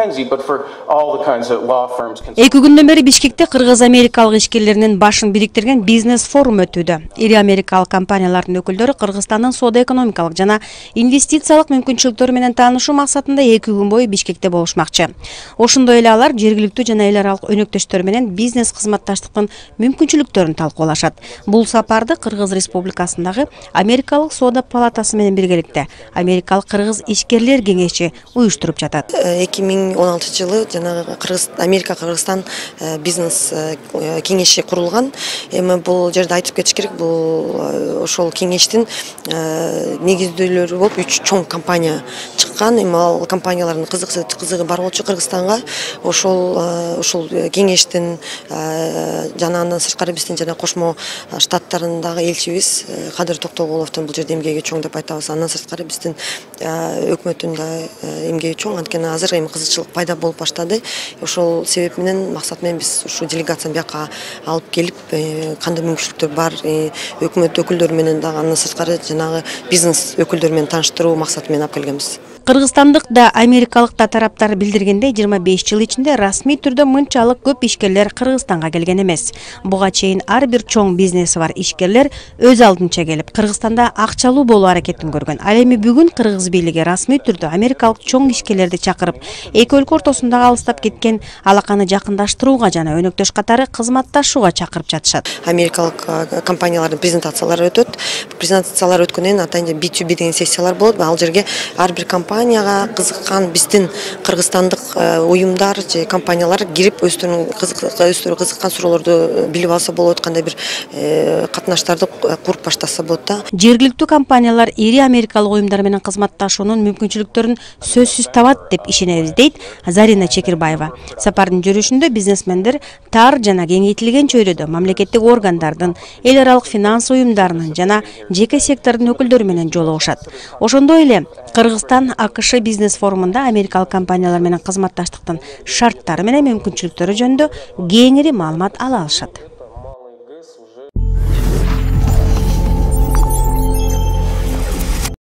McKinsey, but for all the kinds of law firms. Эки күндөн бери Бишкекте кыргыз-америкалык ишкерлеринин башын бириктирген бизнес форум өтүүдө. Ири америкалык компаниялардын өкүлдөрү Кыргызстандын соода-экономикалык жана инвестициялык мүмкүнчүлүктөрү менен таанышуу максатында 2 күн бою Бишкекте болушмакчы. Ошондой эле алар жергиликтүү жана эл аралык өнөктөштөр менен бизнес кызматташтыктын мүмкүнчүлүктөрүн талкуулашат. Бул сапарды Кыргыз Республикасындагы Америкалык соода палатасы менен биргеликте Америкалык кыргыз ишкерлер кеңеши уюштуруп жатат. 2016-жылы жанагы Америка-Кыргызстан бизнес кеңеши курулган. Эми бул жерде айтып кетиш керек, бул ошол кеңештин негиздүүлөрү болуп 3 чоң компания чыккан. Эми ал компаниялардын кызыгы бар болчу Кыргызстанга. Ошол кеңештин жана андан сырткары биздин жана кошмо штаттарындагы элчибиз Кадыр Токтогуловдун бул жерде эмгеги чоң деп айтабыз. Андан сырткары биздин өкмөттүн да эмгеги чоң. Анткени азыр эми кызыкчылык пайда болуп баштады. Ошол себеп менен максат менен биз ушу делегацияны бияка алып келип, кандай мүмкүнчүлүктөр бар, өкмөт өкүлдөрү менен дагы андан сырткары жанагы бизнес өкүлдөрү менен тааныштыруу максаты менен алып келгенбиз. Кыргызстандык да Америкалык да тараптар билдиргендей 25 жыл ичинде расмий түрдө мынчалык көп ишкерлер Кыргызстанга келген эмес. Буга чейин ар бир чоң бизнеси бар ишкерлер өз алдынча келип Кыргызстанда акчалуу болуу аракетин көргөн. Ал эми бүгүн кыргыз бийлиги расмий түрдө Америкалык чоң ишкерлерди чакырып, эки өлкө ортосундагы алыстап кеткен алаканы жакындаштырууга жана өнөктөш катары кызматташууга чакырып жатышат. Америкалык компаниялардын презентациялары өтөт. Презентациялар өткөндөн атайын B2B деген сессиялар болот. Ал жерге ар бир компанияга кызыккан биздин кыргызстандык уюмдар же компаниялар кирип өздөрүнүн кызыккан суроолорду билип алса болот, кандай бир катнаштарды куруп баштаса болот да. Жергиликтүү компаниялар ири америкалык уюмдар менен кызматташуунун мүмкүнчүлүктөрүн сөзсүз табат деп ишенебиз, дейт Зарина Чекирбаева. Сапардын жүрүшүндө бизнесмендер тар жана кеңейтилген чөйрөдө мамлекеттик органдардын, эл аралык финанс уюмдарынын жана жеке сектордун өкүлдөрү менен жолугушат. Ошондой эле Кыргызстан АКШ бизнес форумунда америкалык компаниялар менен кызматташтыктын шарттары менен мүмкүнчүлүктөрү жөнүндө кеңири маалымат ала алышат.